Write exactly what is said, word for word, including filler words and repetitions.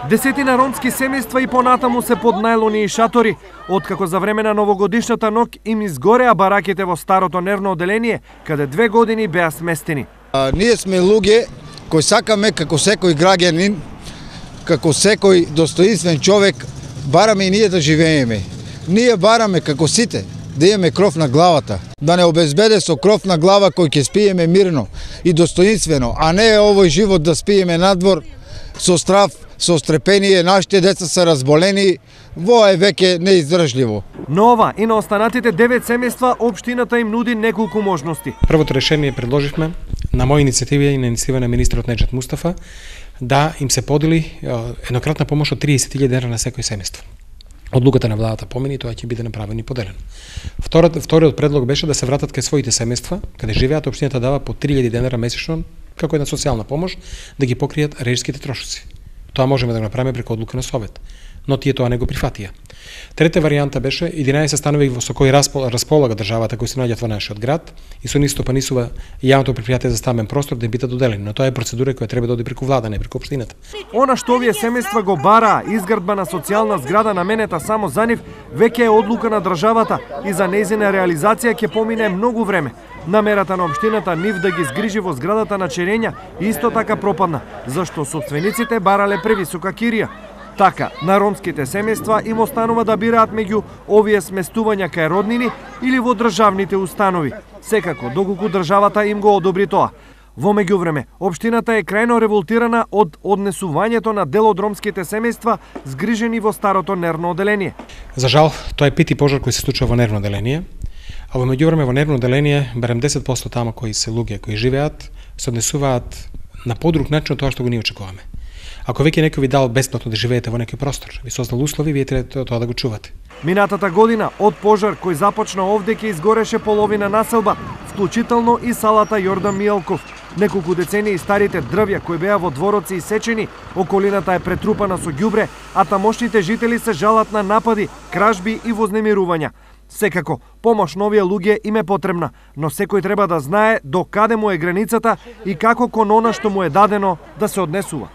Десетина ромски семејства и понатаму се под најлони и шатори, откако за време на новогодишната ног им изгореа бараките во старото нервно оделение, каде две години беа сместени. А, ние сме луѓе кои сакаме како секој граѓанин, како секој достоинствен човек, бараме и ние да живееме. Ние бараме како сите да имаме кров на главата, да не обезбеде со кров на глава кој ќе спиеме мирно и достоинствено, а не овој живот да спиеме надвор со страв, со стрепение, нашите деца се разболени, во е веќе неиздржливо. Но ова и на останатите девет семејства општината им нуди неколку можности. Првото решение предложивме на моја иницијатива и на иницијатива на министерот Неџет Мустафа да им се подели еднократна помош од триесет илјади денари на секој семејство. Одлуката на владата помени, тоа ќе биде направено и поделено. Вториот, вториот предлог беше да се вратат кај своите семејства, каде живеат, општината дава по три илјади денара месечно како една социјална помош да ги покријат режиските трошоци. Тоа можеме да го направиме преку одлука на Совет, но тие тоа не го прифатија. Трета варијанта беше единаесет станови со кои располага државата кои се наоѓаат во нашиот град и со нив стопанисува јавното претпријатие за стамбен простор да им бидат доделени, но тоа е процедура која треба да оди преку влада, не преку општината. Она што овие семејства го бараа, изградба на социјална зграда наменета само за нив, веќе е одлука на државата и за нејзина реализација ќе помине многу време. Намерата на општината нив да ги згрижи во зградата на Черења исто така пропадна, зашто сопствениците барале превисока кирија. Така, на ромските семејства им останува да бираат меѓу овие сместувања кај роднини или во државните установи, секако доколку државата им го одобри тоа. Во меѓувреме, општината е крајно револтирана од однесувањето на дел од ромските семејства згрижени во старото нервно оделение. За жал, тоа е пети пожар кој се случува во нервно оделение, а во меѓувреме во нервно оделение барем десет проценти тама кои се луѓе кои живеат се однесуваат на подруг начин од тоа што го ние очекуваме. Ако веќе некој ви дал бесплатно да живеете во некој простор, ви создал услови, вие треба тоа да го чувате. Минатата година од пожар кој започна овде ќе изгореше половина населба, вклучително и салата Јордан Мијалков. Неколку децении старите дрвја кои беа во двороци исечени, околината е претрупана со ѓубре, а тамошните жители се жалат на напади, кражби и вознемирувања. Секако, помош на овие луѓе им е потребна, но секој треба да знае до каде му е границата и како кон она што му е дадено да се однесува.